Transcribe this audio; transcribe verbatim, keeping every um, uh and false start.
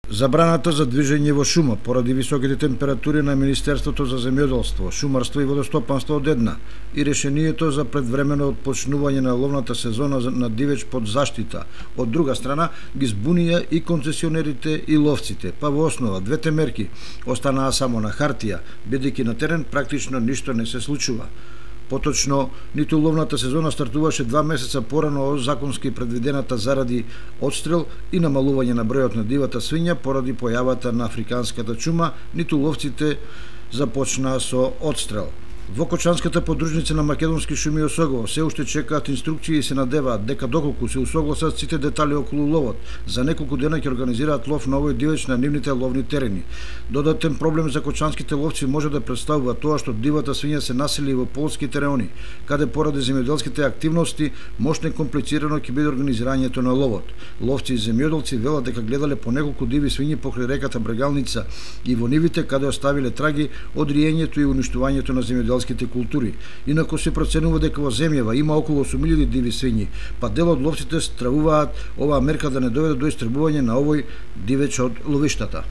Забраната за движење во шума поради високите температури на Министерството за земјоделство, шумарство и водостопанство од една и решението за предвремено отпочнување на ловната сезона на дивеч под заштита од друга страна ги збунија и концесионерите и ловците, па во основа двете мерки останаа само на хартија, бидејќи на терен практично ништо не се случува. Поточно, ниту ловната сезона стартуваше два месеца порано од законски предвидената заради одстрел и намалување на бројот на дивата свиња поради појавата на африканската чума, ниту ловците започнаа со одстрел. Во Кочанската подружница на Македонски шуми ОСГО се уште чекаат инструкции и се надеваат дека доколку се усогласат сите детали околу ловот, за неколку дена ќе организираат лов на овој дивеч на нивните ловни терени. Додатен проблем за кочанските ловци може да представува тоа што дивата свиња се насели во полските реони, каде поради земјоделските активности мошно и комплицирано ќе биде организирањето на ловот. Ловци и земјоделци велат дека гледале по неколку диви свињи покрај реката Брегалница и во нивите каде оставиле траги од риењето и уништувањето на земјоделските култури. Инаку се проценува дека во земјава има околу осум илјади диви свињи, па дел од ловците стравуваат оваа мерка да не доведе до истребување на овој дивеч од ловиштата.